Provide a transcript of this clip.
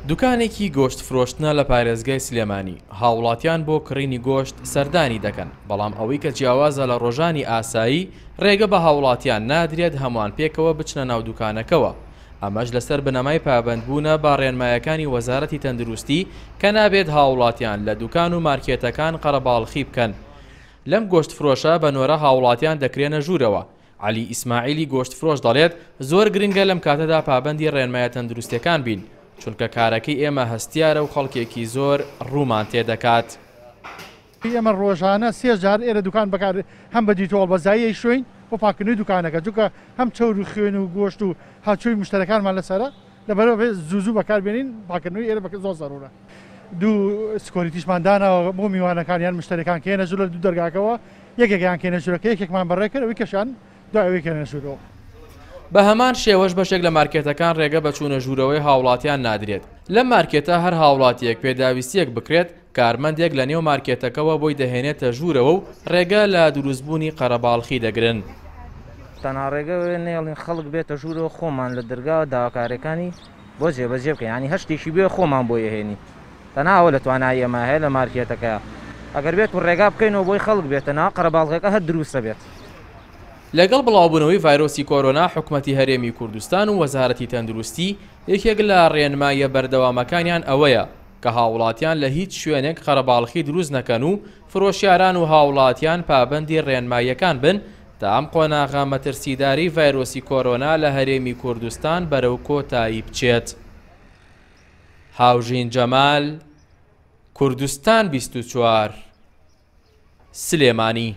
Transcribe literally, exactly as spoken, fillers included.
دوکانێکی گۆشت فرۆشتنە لە پارێزگای سلێمانی، هاوڵاتیان بۆ کڕینی گۆشت سەردانی دەکەن، بەڵام ئەوەی کە جیاوازە لە ڕۆژانی ئاسایی ڕێگە بە هاوڵاتیان نادرێت هەمووان پێکەوە بچنە ناو دوکانەکەوە. ئەمەش لەسەر بنەمای پابەندبوونە بە ڕێنمایەکانی وەزارەتی تەندروستی کە نابێت هاوڵاتیان لە دوکان و مارکێتەکان قەرەباڵخی بکەن. لەم گۆشت فرۆشە بە نۆرە هاوڵاتیان دەکرێنە ژوورەوە. عەلی ئیسماعیلی گۆشت فرۆش دەڵێت زۆر گرنگە لەم کاتەدا پابەندی ڕێنمایە تەندروستیەکان بین، چونکە کارەکەی ئێمە هەستیارە و خەڵکێکی زۆر ڕوومان تێدەکات. ئێمە ڕۆژانە سێ جار ئێرە دوکان بەکار هەم بە دیتۆڵ بەزاییەی شوێن بۆ پاکردنەوەی دوکانەکە، چونکە هەم چەور و خوێن و گۆشت و هاچووی مشتەرەکانمان لەسەرە، لەبەرەوە زوو زوو بەکاربێنین. پاکردنەوەی ئێرە زۆر زەرورە. دوو security شمان داناوە بۆ میوانەکان یان مشتەرەکان کێنە ژوورە دوو دەرگاکەوە، یەکێکیان کێنە ژوورەکە، یەکێکمان بەڕێکرد، ئەوی کەشیان دوای ئەوەی کێنە ژوورەوە. بە هەمان شێوەش بەشێک لە مارکێتەکان ڕێگە بە چوونە ژوورەوەی هاوڵاتیان نادرێت. لەم مارکێتە هەر هاوڵاتیەک پێداویستیەک بکرێت، کارمەندێک لە نێو مارکێتەکەوە بۆی دەهێنێتە ژوورەوە و ڕێگە لە دروستبوونی قەرەباڵخی دەگرن. تەنها ڕێگە نێڵین خەڵک بێتە ژوورەوە، خۆمان لە دەرگاوە داواکاریەکانی بۆ جێبەجێ بکەین، یعنی هەر شتێکی بێ خۆمان بۆی ئەهێنین. تەنها ئەوە لە توانایی ئێمە هەیە لە مارکێتەکە. ئەگەر بێت و ڕێگا بکەینەوە بۆی خەڵک بێتە ناو قەرەباڵغەکە هەر دروستە بێت. لەگەڵ بڵاوبوونەوەی ڤایرۆسی کۆرۆنا، حکومەتی هەرێمی کوردستان و وەزارەتی تەندروستی یەکێک لە ڕێنماییە بەردەوامەکانیان ئەوەیە کە هاوڵاتیان لە هیچ شوێنێک قەرەباڵخی دروست نەکەن و فرۆشیاران و هاوڵاتیان پابەندی ڕێنماییەکان بن تا ئەم قۆناغە مەترسیداری ڤایرۆسی کۆرۆنا لە هەرێمی کوردستان بەرەو کۆتایی بچێت. هاوژین جەمال، کوردستان بیست و چوار، سلێمانی.